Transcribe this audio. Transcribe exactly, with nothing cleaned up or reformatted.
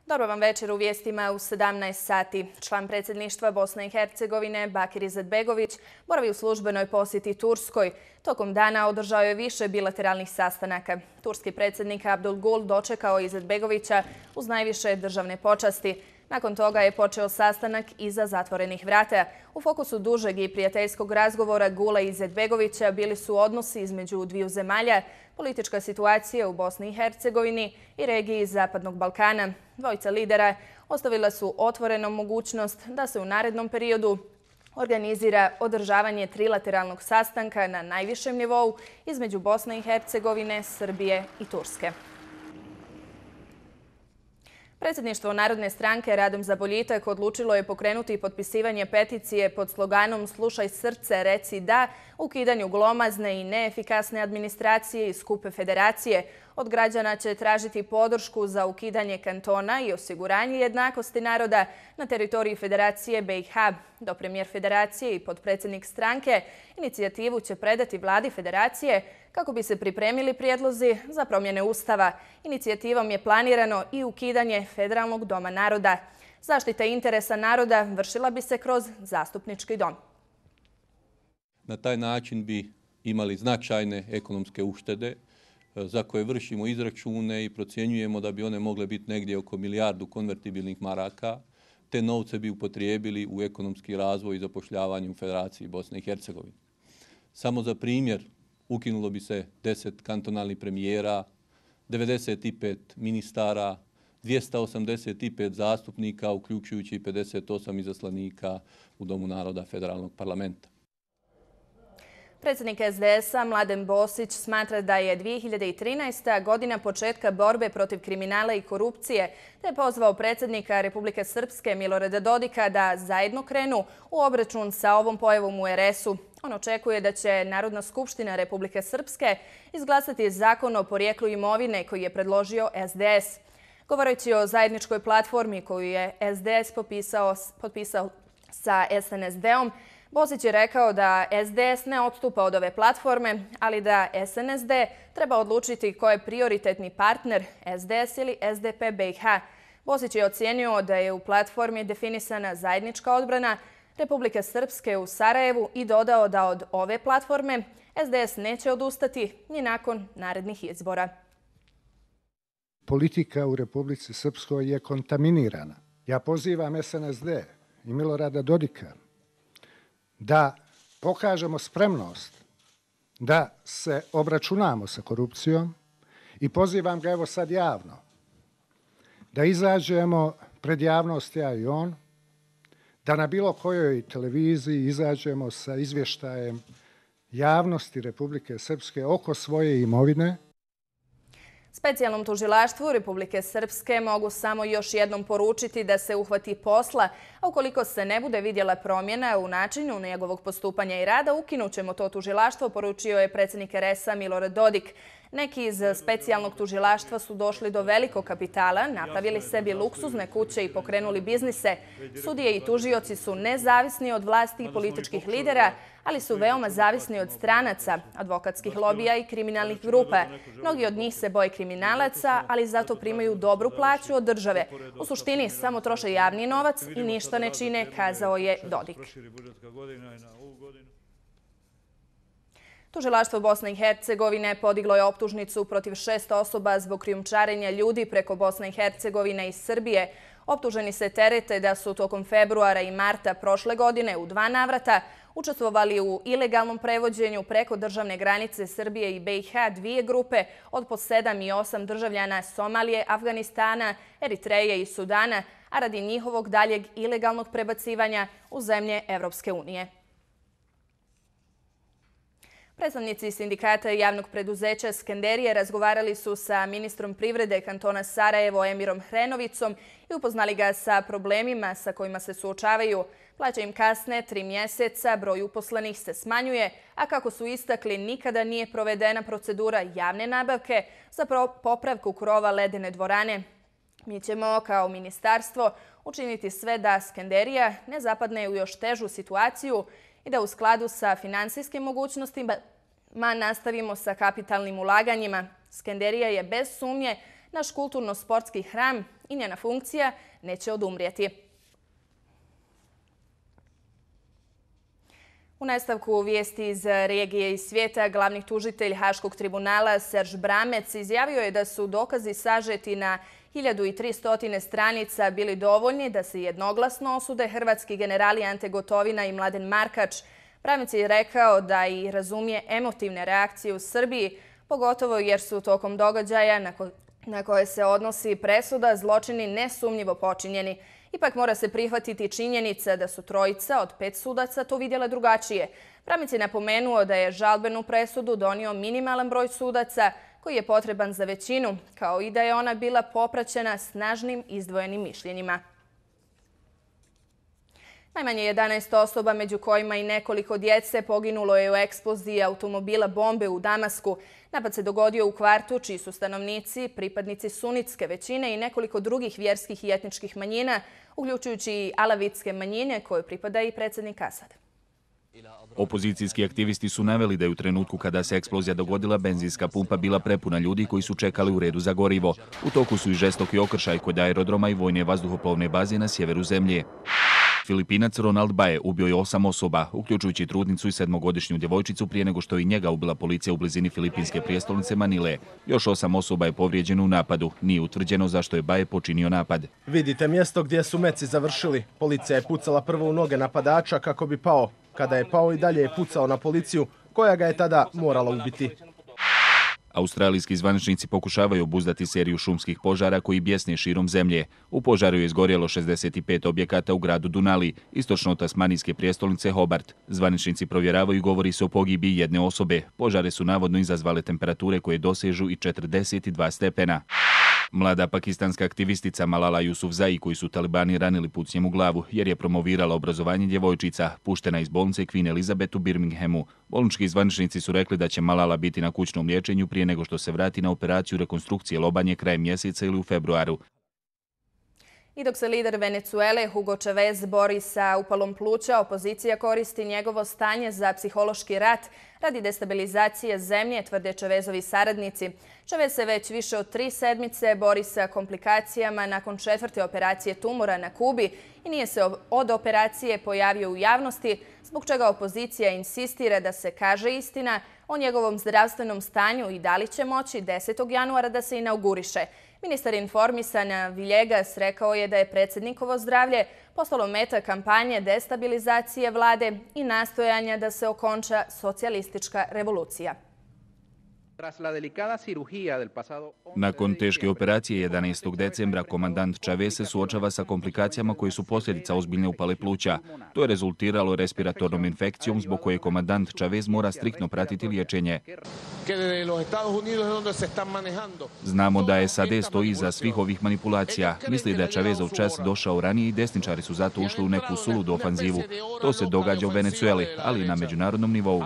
Dobar vam večer, u vijestima u sedamnaest sati. Član predsjedništva Bosne i Hercegovine Bakir Izetbegović boravi u službenoj posjeti Turskoj. Tokom dana održao je više bilateralnih sastanaka. Turski predsjednik Abdul Gul dočekao Izetbegovića uz najviše državne počasti. Nakon toga je počeo sastanak iza zatvorenih vrata. U fokusu dužeg i prijateljskog razgovora Gula i Izetbegovića bili su odnosi između dviju zemalja, politička situacija u Bosni i Hercegovini i regiji Zapadnog Balkana. Dvojica lidera ostavila su otvorenom mogućnost da se u narednom periodu organizira održavanje trilateralnog sastanka na najvišem nivou između Bosne i Hercegovine, Srbije i Turske. Predsjedništvo Narodne stranke Radom za boljitak odlučilo je pokrenuti potpisivanje peticije pod sloganom "Slušaj srce, reci da" ukidanju glomazne i neefikasne administracije i skupe federacije. Od građana će tražiti podršku za ukidanje kantona i osiguranje jednakosti naroda na teritoriji Federacije B i H. Do premijer Federacije i potpredsjednik stranke inicijativu će predati vladi Federacije kako bi se pripremili prijedlozi za promjene Ustava. Inicijativom je planirano i ukidanje Federalnog doma naroda. Zaštita interesa naroda vršila bi se kroz zastupnički dom. Na taj način bi imali značajne ekonomske uštede za koje vršimo izračune i procjenjujemo da bi one mogle biti negdje oko milijardu konvertibilnih maraka. Te novce bi upotrijebili u ekonomski razvoj i zapošljavanje u Federaciji Bosne i Hercegovine. Samo za primjer, ukinulo bi se deset kantonalnih premijera, devedeset pet ministara, dvjesto osamdeset pet zastupnika, uključujući i pedeset osam izaslanika u Domu naroda Federalnog parlamenta. Predsjednik S D S-a Mladen Bosić smatra da je dvije hiljade trinaesta. godina početka borbe protiv kriminala i korupcije, te je pozvao predsjednika Republike Srpske Milorada Dodika da zajedno krenu u obračun sa ovom pojavom u R S-u. On očekuje da će Narodna skupština Republike Srpske izglasati zakon o porijeklu imovine koji je predložio S D S. Govoreći o zajedničkoj platformi koju je S D S potpisao, potpisao sa S N S D-om, Bosić je rekao da S D S ne odstupa od ove platforme, ali da S N S D treba odlučiti ko je prioritetni partner, S D S ili S D P B i H. Bosić je ocijenio da je u platformi definisana zajednička odbrana Republike Srpske u Sarajevu i dodao da od ove platforme S D S neće odustati ni nakon narednih izbora. Politika u Republici Srpskoj je kontaminirana. Ja pozivam S N S D i Milorada Dodika da pokažemo spremnost da se obračunamo sa korupcijom i pozivam ga evo sad javno da izađemo pred javnost, ja i on, da na bilo kojoj televiziji izađemo sa izvještajem javnosti Republike Srpske oko svoje imovine. Specijalnom tužilaštvu Republike Srpske mogu samo još jednom poručiti da se uhvati posla, a ukoliko se ne bude vidjela promjena u načinu njegovog postupanja i rada, ukinut ćemo to tužilaštvo, poručio je predsjednik R S-a Milorad Dodik. Neki iz specijalnog tužilaštva su došli do velikog kapitala, napravili sebi luksuzne kuće i pokrenuli biznise. Sudije i tužioci su nezavisni od vlasti i političkih lidera, ali su veoma zavisni od stranaca, advokatskih lobija i kriminalnih grupa. Mnogi od njih se boje kriminalaca, ali zato primaju dobru plaću od države. U suštini samo troše javni novac i ništa ne čine, kazao je Dodik. Tužilaštvo Bosne i Hercegovine podiglo je optužnicu protiv šest osoba zbog krijumčarenja ljudi preko Bosne i Hercegovine i Srbije. Optuženi se terete da su tokom februara i marta prošle godine u dva navrata učestvovali u ilegalnom prevođenju preko državne granice Srbije i B i H dvije grupe od po sedam i osam državljana Somalije, Afganistana, Eritreje i Sudana, a radi njihovog daljeg ilegalnog prebacivanja u zemlje Evropske unije. Predstavnici sindikata i javnog preduzeća Skenderije razgovarali su sa ministrom privrede kantona Sarajevo Emirom Hrenovicom i upoznali ga sa problemima sa kojima se suočavaju. Plaće im kasne tri mjeseca, broj uposlenih se smanjuje, a kako su istakli, nikada nije provedena procedura javne nabavke za popravku krova ledene dvorane. Mi ćemo kao ministarstvo učiniti sve da Skenderija ne zapadne u još težu situaciju i da u skladu sa finansijskim mogućnostima nastavimo sa kapitalnim ulaganjima. Skenderija je bez sumnje naš kulturno-sportski hram i njena funkcija neće odumrijeti. U nastavku vijesti iz regije i svijeta, glavni tužitelj Haškog tribunala Serž Bramec izjavio je da su dokazi sažeti na hiljadu tristo stranica bili dovoljni da se jednoglasno osude hrvatski generali Ante Gotovina i Mladen Markač. Bramec je rekao da i razumije emotivne reakcije u Srbiji, pogotovo jer su tokom događaja na koje se odnosi presuda zločini nesumnjivo počinjeni. Ipak mora se prihvatiti činjenica da su trojica od pet sudaca to vidjele drugačije. Bramec je napomenuo da je žalbenu presudu donio minimalan broj sudaca koji je potreban za većinu, kao i da je ona bila popraćena snažnim izdvojenim mišljenjima. Najmanje jedanaest osoba, među kojima i nekoliko djece, poginulo je u eksploziji automobila bombe u Damasku. Napad se dogodio u kvartu čiji su stanovnici pripadnici sunitske većine i nekoliko drugih vjerskih i etničkih manjina, uključujući i alavitske manjine koje pripada i predsjednik Asad. Opozicijski aktivisti su naveli da je u trenutku kada se eksplozija dogodila benzinska pumpa bila prepuna ljudi koji su čekali u redu za gorivo. U toku su i žestoki okršaj kod aerodroma i vojne vazduhoplovne baze na sjeveru zemlje. Filipinac Ronald Bae ubio je osam osoba, uključujući trudnicu i sedmogodišnju djevojčicu prije nego što je i njega ubila policija u blizini filipinske prijestolnice Manile. Još osam osoba je povrijeđeno u napadu. Nije utvrđeno zašto je Bae počinio napad. Vidite mjesto gdje su meci završili. Policija je pucala prvo u noge napadača kako bi pao. Kada je pao i dalje je pucao na policiju, koja ga je tada morala ubiti. Australijski zvaničnici pokušavaju obuzdati seriju šumskih požara koji bjesne širom zemlje. U požaru je izgorjelo šezdeset pet objekata u gradu Dunali, istočno od tasmanijske prijestolnice Hobart. Zvaničnici provjeravaju, govori se o pogibiji jedne osobe. Požare su navodno izazvale temperature koje dosežu i četrdeset dva stepena. Mlada pakistanska aktivistica Malala Yousafzai, koju su talibani ranili pucnjem u glavu jer je promovirala obrazovanje djevojčica, puštena iz bolnice Queen Elizabeth u Birminghamu. Bolnički zvaničnici su rekli da će Malala biti na kućnom liječenju prije nego što se vrati na operaciju rekonstrukcije lobanje krajem mjeseca ili u februaru. I dok se lider Venezuele Hugo Chavez bori sa upalom pluća, opozicija koristi njegovo stanje za psihološki rat radi destabilizacije zemlje, tvrde Chavezovi saradnici. Chavez se već više od tri sedmice bori sa komplikacijama nakon četvrte operacije tumora na Kubi i nije se od operacije pojavio u javnosti, zbog čega opozicija insistira da se kaže istina o njegovom zdravstvenom stanju i da li će moći desetog januara da se inauguriše. Ministar informisanja Villegas rekao je da je predsjednikovo zdravlje postalo meta kampanje destabilizacije vlade i nastojanja da se okonča socijalistička revolucija. Nakon teške operacije jedanaestog decembra komandant Chavez se suočava sa komplikacijama koje su posljedica ozbiljne upale pluća. To je rezultiralo respiratornom infekcijom zbog koje komandant Chavez mora striktno pratiti liječenje. Znamo da S A D stoji iza svih ovih manipulacija. Misli da je Chavezov čas došao ranije i desničari su zato ušli u neku suludu ofanzivu. To se događa u Venezueli, ali i na međunarodnom nivou.